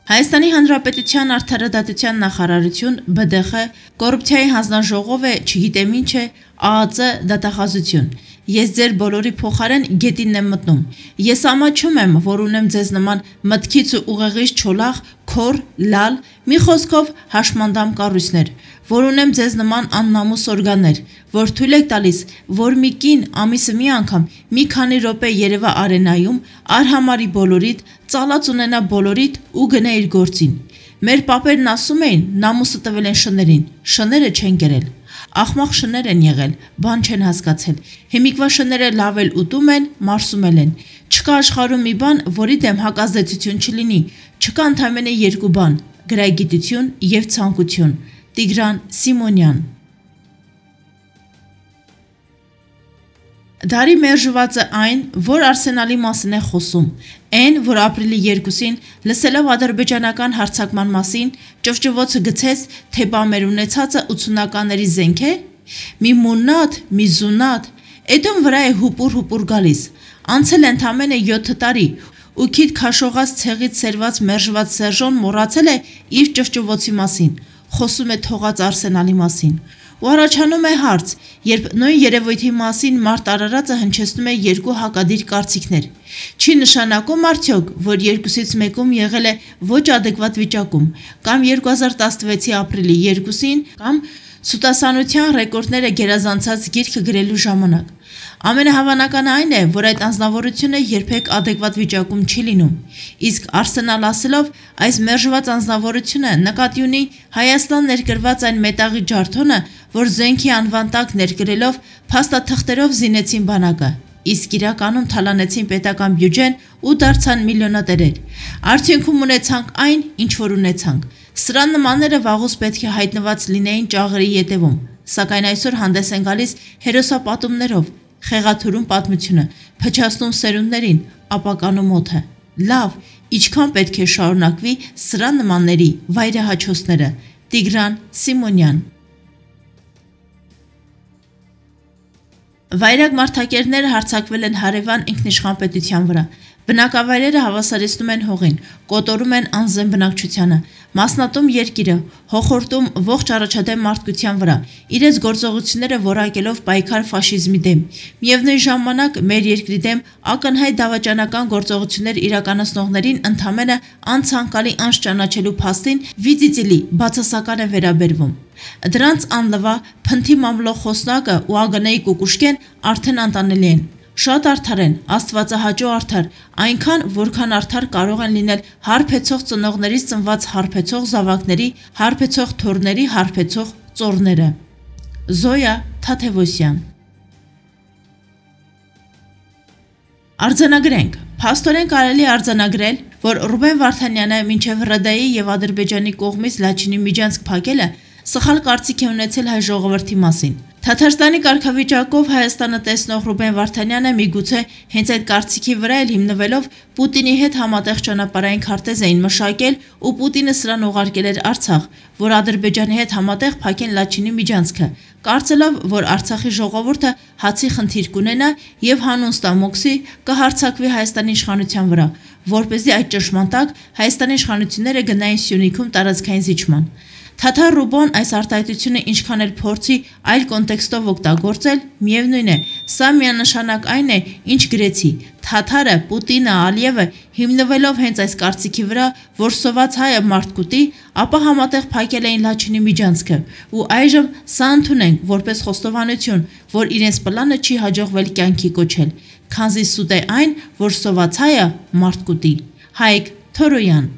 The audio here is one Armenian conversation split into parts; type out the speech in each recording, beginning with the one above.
Հայաստանի Հանրապետության Արդարադատության նախարարություն, ԲԴԽ, կոռուպցիայի հանձնաժողով է, չգիտեմ ինչ է, ԱԱԾ դատախազություն։ Ես ձեր բոլորի փոխարեն գետինն եմ մտնում։ Ես ամաչում եմ, որ ունեմ ձեզ նման մտքից ու ուղեղից չոլախ, քոր, լալ, մի խոսքով հաշմանդամ կառույցներ, որ ունեմ ձեզ նման աննամուս օրգաններ, որ թույլ եք տալիս, որ մի կին ամիսը մի անգամ մի քանի րոպե երևա արենայում, արհամարի բոլորիդ, ծալած ունենա բոլորիդ ու գնա իր գործին։ Մեր պապերն ասում էին, նամուսը տվել են շներին, շները չեն կերել։ Ախմախ շներ են եղել, բան չեն հասկացել։ Հիմիկվա շները լավ էլ ուտում են, մարսում են։ Չկա աշխարհում մի բան, որի դեմ հակազդեցություն չլինի։ Չկա ընդամենը երկու բան՝ գրագիտություն եւ ցանկություն։ Տիգրան Սիմոնյան։ Դարի մերժվածը այն, որ Արսենալի մասին է խոսում, այն, որ ապրիլի 2-ին լսելով ադրբեջանական հարձակման մասին, ճվճվոցը գցեց, թե բա մեր ունեցածը 80-ականների զենք է, մի մունատ, մի զունատ, էդոն վրա է հուպուր գալիս, անցել ընդամենը 7 տարի, ու քիթ քաշողած ցեղից սերված մերժված Սերժոն մոռացել է իր ճվճվոցի մասին, խոսում է թողած Արսենալի մասին։ Ու առաջանում է հարց, երբ նույն երևույթի մասին Մարտ Արարածը հնչեցնում է երկու հակադիր կարծիքներ։ Չի նշանակում արդյոք, որ երկուսից մեկում եղել է ոչ ադեկվատ վիճակում, կամ 2016-ի ապրիլի 2-ին, կամ սուտասանության ռեկորդները գերազանցած գիրքը գրելու ժամանակ։ Ամենահավանականը այն է, որ այդ անձնավորությունը երբեք ադեկվատ վիճակում չի լինում, իսկ Արսենալ ասելով այս մերժված անձնավորությունը նկատի ունի Հայաստան ներկրված այն մետաղի ջարդոնը, որ զենքի անվան տակ ներկրելով փաստաթղթերով զինեցին բանակը, իսկ իրականում թալանեցին պետական բյուջեն ու դարձան միլիոնատերեր։ Արդյունքում ունեցանք այն, ինչ որ ունեցանք։ Սրա նմանները վաղուց պետք է հայտնված լինեին ճաղերի ետևում, սակայն այսօր հանդես են գալիս հերոսապատումներով, խեղաթյուրում պատմությունը, փչացնում սերունդներին, ապականում օդը։ Լավ, ինչքան պետք է շարունակվի սրա նմանների վայրահաչոցները։ Տիգրան Սիմոնյան։ Վայրագ մարդակերները հարձակվել են հարևան ինքնիշխան պետության վրա։ Բնակավայրերը հավասարեցնում են հողին, կոտորում են անզեն բնակչությանը, մասնատում երկիրը, հոխորտում ողջ առաջադեմ մարդկության վրա, իրենց գործողությունները որակելով պայքար ֆաշիզմի դեմ։ Միևնույն ժամանակ մեր երկրի դեմ ակնհայտ դավաճանական գործողություններ իրականացնողներին ընդամենը անցանկալի անց ճանաչելու փաստին վիծիծիլի բացասական է վերաբերվում։ Դրանց անլվա փնթի մամլող խոսնակը ու ԱԳՆ-ի կուկուշկեն արդեն անտանելի են։ Շատ արդար են, աստվածահաճո արդար, այնքան, որքան արդար կարող են լինել հարբեցող ծնողներից ծնված հարբեցող զավակների, հարբեցող թոռների, հարբեցող ծոռները։ Զոյա Թաթևոսյան։ Արձանագրենք։ Փաստորեն կարելի է արձանագրել, որ Ռուբեն Վարդանյանը մինչև ՌԴ-ի եւ Ադրբեջանի կողմից Լաչինի միջանցք փակելը սխալ կարծիք է ունեցել հայ ժողովրդի մասին։ Թաթարստանի կարգավիճակով Հայաստանը տեսնող Ռուբեն Վարդանյանը միգուցե հենց այդ կարծիքի վրա էլ հիմնվելով Պուտինի հետ համատեղ ճանապարհային քարտեզ էին մշակել ու Պուտինը սրան ուղարկել էր Արցախ, որ Ադրբեջանի հետ համատեղ փակեն Լաչինի միջանցքը, կարծելով, որ Արցախի ժողովուրդը հացի խնդիր կունենա եւ հանուն ստամոքսի կհարձակվի Հայաստանի իշխանության վրա, որպեսզի այդ ճնշման տակ Հայաստանի իշխանությունները գնային Սյունիքում տարածքային զիջման։ Թաթար Ռուբոն այս արտահայտությունը ինչքան էլ փորձի այլ կոնտեքստով օգտագործել, միևնույն է, սա միանշանակ այն է, ինչ գրեցի։ Թաթարը, Պուտինը, Ալիևը հիմնվելով հենց այս կարծիքի վրա, որ սոված հայը մարդ կուտի, ապա համատեղ փակել էին Լաչինի միջանցքը, ու այժմ սա ընդունենք որպես խոստովանություն, որ իրենց պլանը չի հաջողվել կյանքի կոչել, քանզի սուտ է այն, որ սոված հայը մարդ կուտի։ Հայկ Թորոյան։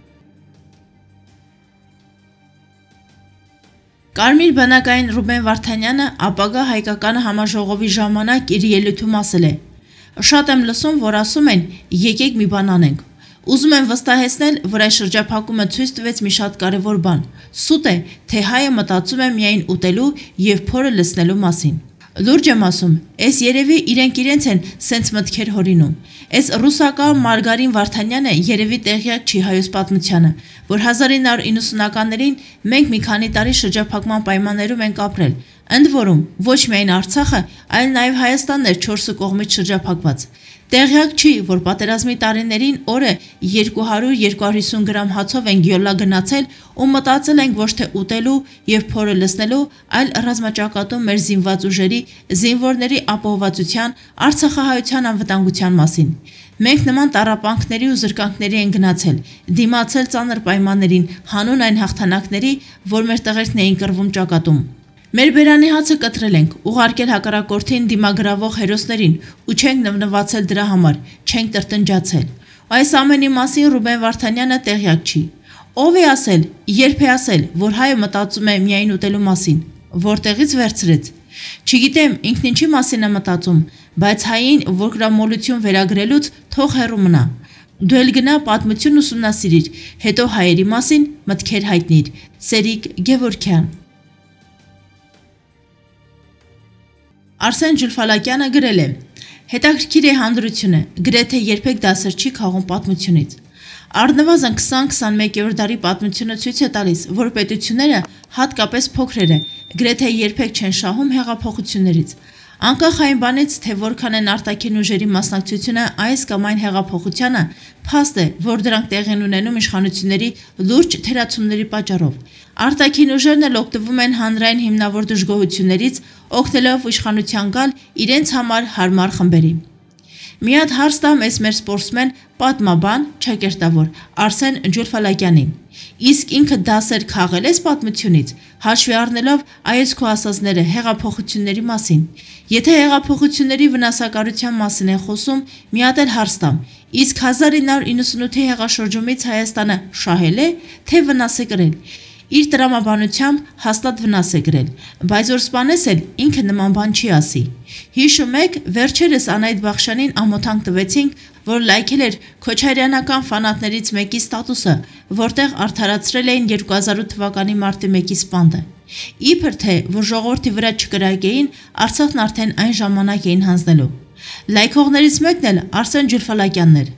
Կարմիր բանակային Ռուբեն Վարդանյանը ապագա հայկական համաժողովի ժամանակ իր ելույթում ասել է. «Շատ եմ լսում, որ ասում են, եկեք մի բան անենք։ Ուզում եմ վստահեցնել, որ այս շրջափակումը ցույց տվեց մի շատ կարևոր բան։ Սուտ է, թե հայը մտածում է միայն ուտելու եւ փորը լցնելու մասին։ Լուրջ եմ ասում, էս երևի իրենք են սենց մտքեր հորինում։ Էս ռուսական Մարգարին Վարդանյանը երևի տեղյակ չի հայոց պատմությանը, որ 1990-ականներին մենք մի քանի տարի շրջափակման պայմաններում ենք ապրել, ընդ որում ոչ միայն Արցախը, այլ նաև Հայաստանն էր 4 կողմից շրջափակված։ Տեղյակ չի, որ պատերազմի տարիներին օրը 200-250 գրամ հացով ենք յոլա գնացել ու մտածել ենք ոչ թե ուտելու և փորը լցնելու, այլ ռազմաճակատում մեր զինված ուժերի, զինվորների ապահովվածության, Արցախահայության անվտանգության մասին։ Մենք նման տառապանքների ու զրկանքների են գնացել, դիմացել ծանր պայմաններին, հանուն այն հաղթանակների, որ մեր տղերքն էին կռվում ճակատում։ Մեր բերանի հացը կտրել ենք, ուղարկել հակառակորդին դիմագրավող հերոսներին ու չենք նվնվացել դրա համար, չենք տրտնջացել։ Այս ամենի մասին Ռուբեն Վարդանյանը տեղյակ չի։ Ով է ասել, երբ է ասել, որ հայը մտածում է միայն ուտելու մասին, որտեղից վերցրեց։ Չգիտեմ, ինքն ինչի մասին է մտածում, բայց հային ոգրամոլություն վերագրելուց թող հեռու մնա։ Դու էլ գնա պատմություն ուսումնասիրիր, հետո հայերի մասին մտքեր հայտնիր։ Սերիկ Գևորգյան։ Արսեն Ջուլֆալակյանը գրել է. հետաքրքիր է հանդրությունը, գրեթե երբեք դասեր չի քաղում պատմությունից։ Առնվազն 20-21-րդ դարի պատմությունը ցույց է տալիս, որ պետությունները, հատկապես փոքրերը, գրեթե երբեք չեն շահում հեղափոխություններից։ Անկախ այն բանից, թե որքան են արտաքին ուժերի մասնակցությունը այս կամ այն հեղափոխությանը, փաստ է, որ դրանք տեղի են ունենում իշխանությունների լուրջ թերացումների պատճառով։ Արտաքին ուժերն էլ օգտվում են հանրային հիմնավոր դժգոհություններից, օգնելով իշխանության գալ իրենց համար հարմար խմբերի։ Մի հատ հարց տամ էս մեր սպորտսմեն, պատմաբան, ճակերտավոր Արսեն Ջուլֆալակյանին։ Իսկ ինքը դասեր քաղել ես պատմությունից, հաշվի առնելով այս քո ասածները հեղափոխությունների մասին։ Եթե հեղափոխությունների վնասակարության մասին է խոսում, մի հատ էլ հարց տամ։ Իսկ 1998-ի հեղաշրջումից Հայաստանը շահել է, թե վնաս է կրել։ Իր տրամաբանությամբ հաստատ վնաս է գրել, բայց որ սպանես էլ ինքը նման բան չի ասի։ Հիշում եք, վերջերս Անահիտ Բախշյանին ամոթանք տվեցինք, որ լայքել էր քոչարյանական ֆանատներից մեկի ստատուսը, որտեղ արդարացրել էին 2008 թվականի մարտի 1-ի սպանդը։ Իբր թե, որ ժողովրդի վրա չկրակեին, Արցախն արդեն այն ժամանակ էին հանձնելու։ Լայքողներից մեկն էլ Արսեն Ջուլֆալակյանն էր։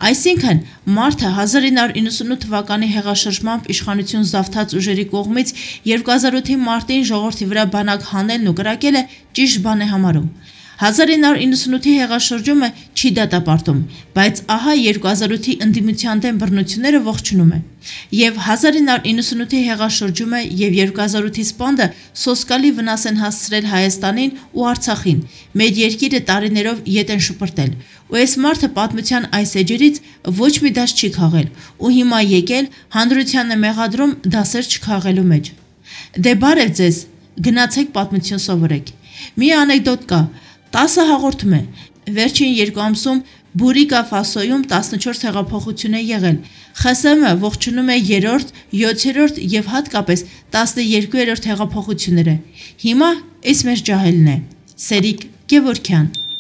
Այսինքն, մարդը 1998 թվականի հեղաշրջմամբ իշխանություն զավթած ուժերի կողմից 2008-ի մարտին ժողովրդի վրա բանակ հանելն ու կրակելը ճիշտ բան է համարում։ 1998-ի հեղաշրջումը չի դատապարտում, բայց ահա 2008-ի ընդդիմության դեմ բռնությունները ողջունում է։ Եվ 1998-ի հեղաշրջումը և 2008-ի սպանդը սոսկալի վնաս են հասցրել Հայաստանին ու Արցախին, մեր երկիրը տարիներով ետ են շպրտել, ու այս մարդը պատմության այս էջերից ոչ մի դաս չի քաղել, ու հիմա եկել հանրությանն է մեղադրում դասեր չքաղելու մեջ։ Դե բարև ձեզ, գնացեք պատմություն սովորեք։ Մի անեկդոտ կա, 10 հաղորդում է, վերջին 2 ամսում Բուրիկա Ֆասոյում 14 հեղափոխություն է եղել, ԽՍՀՄ ողջունում է 3-րդ, 7-րդ և հատկապես 12-րդ հեղափոխությունները, հիմա էս մեր ջահելն է, Սերիկ Գևորգյան։